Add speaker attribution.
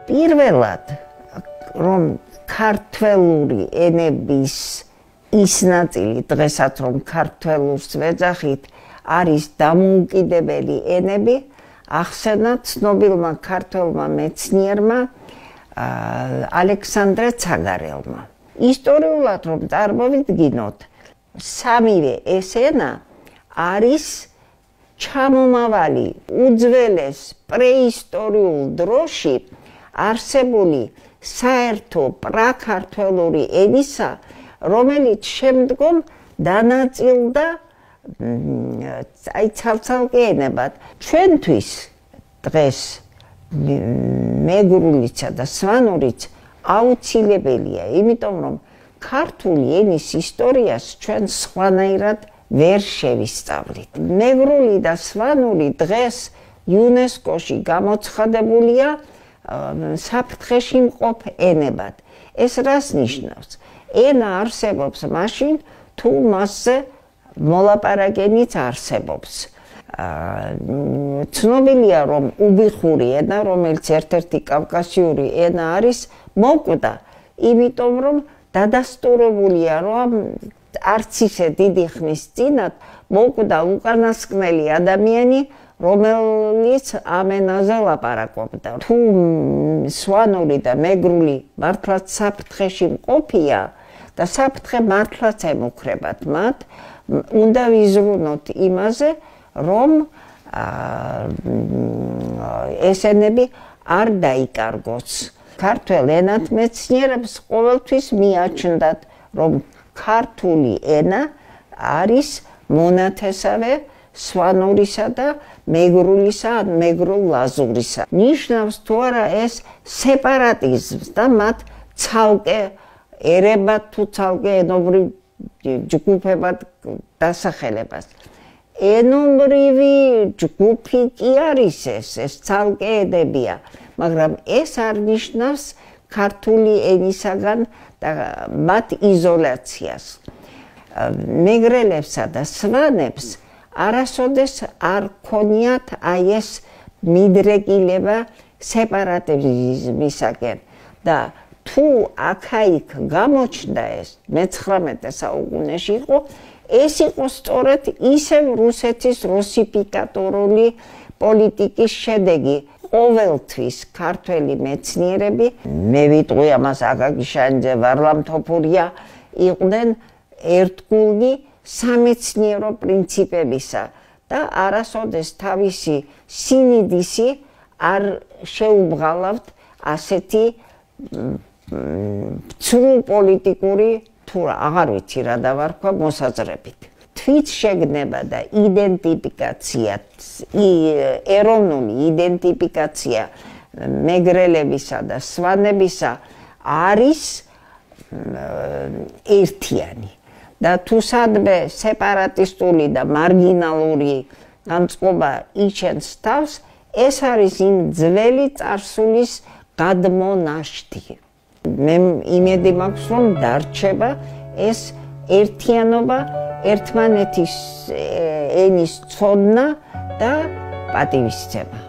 Speaker 1: პირველად რომ ქართველური ენების ის ნაწილი დღესაც რომ ქართველურს ვეძახით არის დამოუკიდებელი ენები ახსენა ცნობილმა ქართველმა მეცნიერმა ალექსანდრე ცაგარელმა. ისტორიულად რომ წარმოვიდგინოთ, სამივე ეს ენა არის ჩამომავალი უძველეს პრეისტორიულ დროში არსებული საერთო პრაქართველური ენისა, რომელიც შემდგომ დანაწილდა ცალ-ცალკე ენებად. ჩვენთვის დღეს მეგრულიცა და სვანურიც აუცილებელია, იმიტომ რომ ქართული ენის ისტორიას ჩვენ სხვანაირად ვერ შევისწავლით. მეგრული და სვანური დღეს იუნესკოში გამოცხადებულია საფრთხეში მყოფ ენებად. ეს რას ნიშნავს? ენა არსებობს მაშინ, თუ მასზე მოლაპარაკებაც არსებობს. ცნობილია, რომ უბიხური ენა, რომელიც ერთ-ერთი კავკასიური ენა არის, მოკვდა, იმიტომ რომ დადასტურებულია, რომ არც ისე დიდი ხნის წინათ მოკვდა უკანასკნელი ადამიანი, რომელიც ამ ენაზე ლაპარაკობდა. თუ სვანური და მეგრული მართლაც საფრთხეში მყოფია და საფრთხე მართლაც ემუქრებათ მათ, უნდა ვიზრუნოთ იმაზე, რომ ეს ენები არ დაიკარგოს. ქართველ ენათმეცნიერებს ყოველთვის მიაჩნდათ, რომ ქართული ენა არის მონათესავე სვანურისა და მეგრულისა ან მეგრულ-ლაზურისა. ნიშნავს თუ არა ეს სეპარატიზმს და მათ ცალკე ერებად თუ ცალკე ენობრივ ჯგუფებად დასახელებას. ენობრივი ჯგუფი კი არის ეს ცალკე ენებია, მაგრამ ეს არ ნიშნავს ქართული ენისაგან და მათ იზოლაციას. მეგრელებსა და სვანებს არასოდეს არ ქონიათ აი ეს მიდრეკილება სეპარატიზმისაკენ და თუ აქა-იქ გამოჩნდა ეს მე-19 საუკუნეში იყო, ეს იყო სწორედ ისევ რუსეთის რუსიფიკატორული პოლიტიკის შედეგი. ყოველთვის ქართველი მეცნიერები, მე ვიტყვი ამას აკაკი შანიძე, ვარლამ თოფურია, იყვნენ ერთგულნი სამეცნიერო პრინციპებისა და არასოდეს თავისი სინიდისი არ შეუბღალავთ ასეთი ცრუ პოლიტიკური თუ აღარ ვიცი რა დავარქვა მოსაზრებით. თვითშეგნება და იდენტიფიკაცია, ეროვნული იდენტიფიკაცია მეგრელებისა და სვანებისა არის ერთიანი. და თუ სადმე სეპარატისტული და მარგინალური განწყობა იჩენს თავს, ეს არის იმ ძველი წარსულის გადმონაშთი. მე იმედი მაქვს, რომ დარჩება ეს ერთიანობა, ერთმანეთის ენის ცოდნა და პატივისცემა.